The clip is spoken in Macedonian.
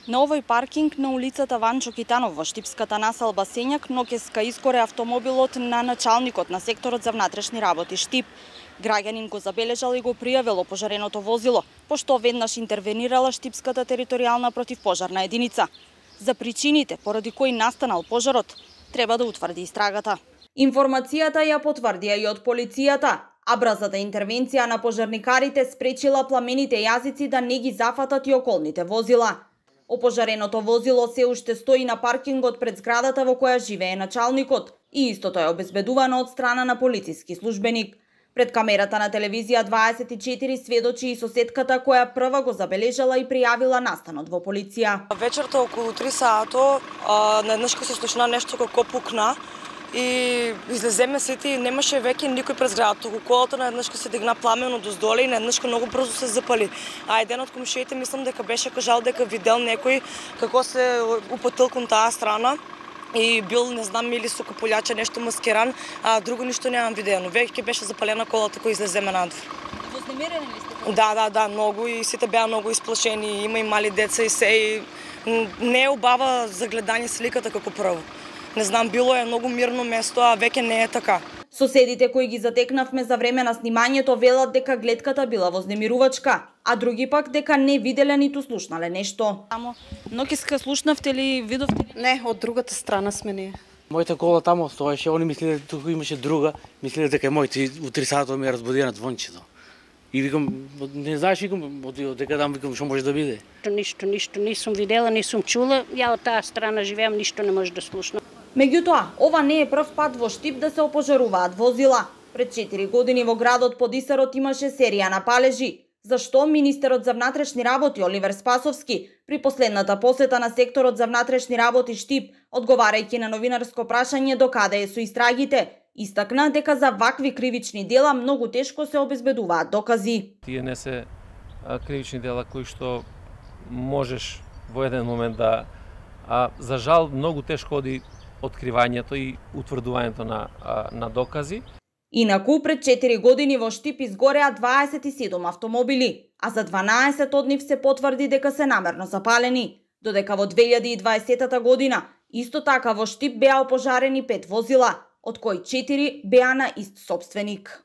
На овој паркинг на улицата Ванчо Китанов во штипската населба Сењак ноќеска изгоре автомобилот на началникот на секторот за внатрешни работи Штип. Граѓанин го забележал и го пријавил опожареното возило, пошто веднаш интервенирала штипската територијална противпожарна единица. За причините поради кои настанал пожарот треба да утврди истрагата. Информацијата ја потврдија и од полицијата, а брзата интервенција на пожарникарите спречила пламените јазици да не ги зафатат и околните возила. Опожареното возило се уште стои на паркингот пред зградата во која живее началникот и истото е обезбедувано од страна на полициски службеник. Пред камерата на телевизија 24 сведочи и соседката која прва го забележала и пријавила настанот во полиција. Вечерта околу 3 сато наеднаш се слушна нешто како пукна и излеземе сите и немаше веќе никој пред зградата. Околу колата наеднаш се дигна пламено доздоле и наеднаш многу брзо се запали. А еден од комшиите мислам дека беше кажал дека видел некој како се упатил кон таа страна и бил, не знам, или со каполјача нешто маскиран, а друго ништо немам видено. Веќе беше запалена колата која излеземе надвор. Вознемирени ли сте? Да, многу и сите беа многу исплашени, има и мали деца и се и не е убава за гледање сликата како прво. Не знам, било е многу мирно место, а веќе не е така. Соседите кои ги затекнавме за време на снимањето велат дека гледката била вознемирувачка, а други пак дека не виделе ниту слушнале нешто. Само ноќеска слушнавте ли, видовте ли? Не, од другата страна сме ние. Мојата кола тамо стоеше, они мислеле туку имаше друга, мислеле дека моите у 3 сата ми разбудија на звончето. И викам, не знаеш, викам, дека там викам што може да биде. Ништо не сум видела, не сум чула. Ја од таа страна живеам, ништо не може да слушнам. Меѓутоа, ова не е прв пат во Штип да се опожаруваат возила. Пред 4 години во градот Подисарот имаше серија на палежи, зашто министерот за внатрешни работи Оливер Спасовски при последната посета на секторот за внатрешни работи Штип, одговарајќи на новинарско прашање докаде е со истрагите, истакна дека за вакви кривични дела многу тешко се обезбедуваат докази. Тие не се кривични дела кои што можеш во еден момент да... за жал, многу тешко оди откривањето и утврдувањето на докази. Инаку, пред 4 години во Штип изгореа 27 автомобили, а за 12 од нив се потврди дека се намерно запалени, додека во 2020 година исто така во Штип беа опожарени 5 возила, од кои 4 беа на ист сопственик.